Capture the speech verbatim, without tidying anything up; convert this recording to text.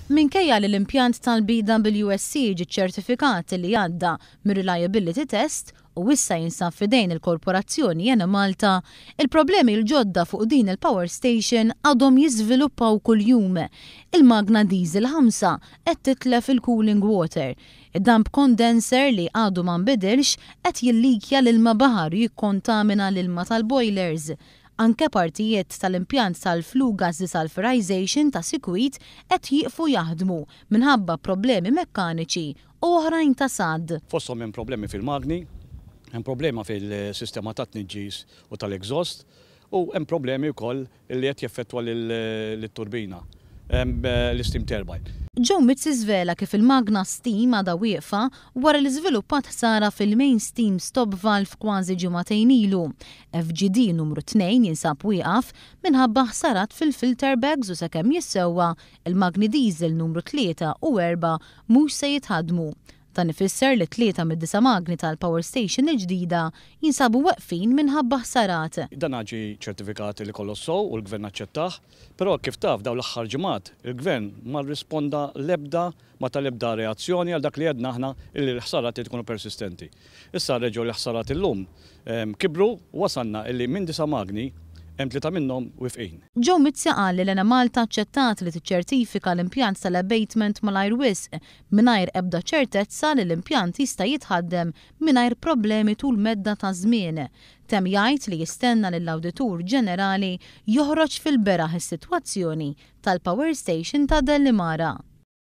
Minkejja li l-impjant tal-B W S C ġi ċertifikat li għadda mir-reliability test u issa jinsab fidejn il-Korporazzjoni Enemalta, il-problemi l-ġodda fuq din il-power station għadhom jiżviluppaw kuljum. Il-magna diesel ħamsa qed titlef il-cooling water. Id-dump condenser li għadu ma nbidilx qed jillikja l-ilma baħar u jikkontamina l-ilma tal-boilers. Anke partijiet tal-impjant tal-flue gas desulfurization ta' sikwit qed jieqfu jaħdmu minħabba problemi mekkaniċi u oħrajn ta' sad. Fosthom hemm problemi fil-magni, hemm problema fil-sistema ta' tniġġis u tal-exhaust u hemm problemi wkoll li qed jeffettwa lit-turbina, l-steam turbine. Joe Mizzi żvela kif il-magna steam għadha wieqfa wara li żviluppat ħsara fil-main steam stop valve kważi ġimagħtejn ilu. F G D numru tnejn jinsab wieqaf minħabba ħsarat fil-filter bags u sakemm jissewwa, il-magni diesel numru tlieta u erbgħa mhux se jitħadmu. Dan ifisser li tlieta mid-disa' magni tal-power station il-ġdida jinsabu weqfin minħabba ħsarat. Dan ġie ċertifikat li kollox sew u l-gvern aċċettah, però kif taf, dawn l-aħħar ġimgħat il-gvern ma rrisponda lebda ma ta lebda reazzjoni għal dak li għedna aħna illi l-ħsarat tkunu persistenti. Issa reġgħu l-ħsarat illum kibru u wasalna illi minn disa' magni hemm tlieta minnhom wifqin. Joe Mizzi qal li l-Enemalta aċċettat li tiċċertifika l-impjant tal-abatement malajr wisq mingħajr ebda ċertezza li l-impjant jista' jitħaddem mingħajr problemi tul medda ta' żmien. Temm jgħid li jistenna lill-Awditur Ġenerali joħroġ fil-beraħ is-sitwazzjoni tal-power station ta' Delimara.